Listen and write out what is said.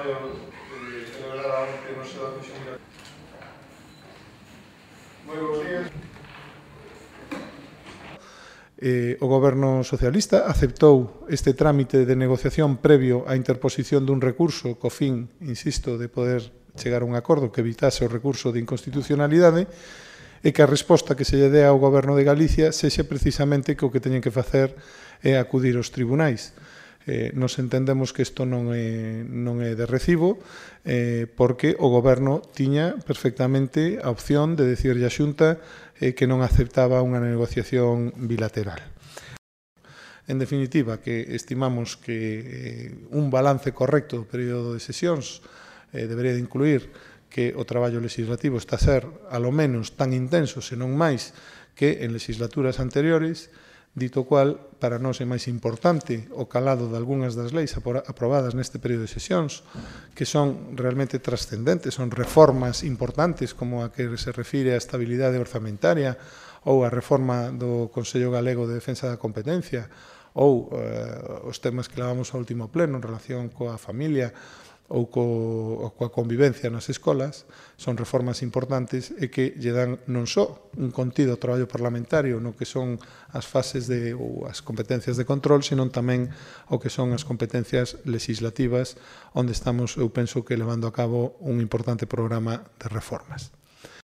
traballo celebrada onte no seo da Comisión Bilateral. Moi bons días. O Goberno socialista aceptou este trámite de negociación previo á interposición dun recurso co fin, insisto, de poder chegar a un acordo que evitase o recurso de inconstitucionalidade e que a resposta que se lle dé ao Goberno de Galicia sexe precisamente que o que teñen que facer é acudir aos tribunais. Nos entendemos que isto non é de recibo porque o Goberno tiña perfectamente a opción de decirlle á Xunta que non aceptaba unha negociación bilateral. En definitiva, que estimamos que un balance correcto do período de sesións debería de incluir que o traballo legislativo está a ser, alo menos, tan intenso, senón máis, que en legislaturas anteriores, dito cual, para nós é máis importante o calado de algunhas das leis aprobadas neste período de sesións, que son realmente trascendentes, son reformas importantes como a que se refire á estabilidade orzamentaria ou a reforma do Consello Galego de Defensa da Competencia ou os temas que levamos ao último pleno en relación coa familia ou coa convivencia nas escolas, son reformas importantes e que lle dan non só un contido ao traballo parlamentario no que son as fases ou as competencias de control, senón tamén o que son as competencias legislativas, onde estamos, eu penso, que levando a cabo un importante programa de reformas.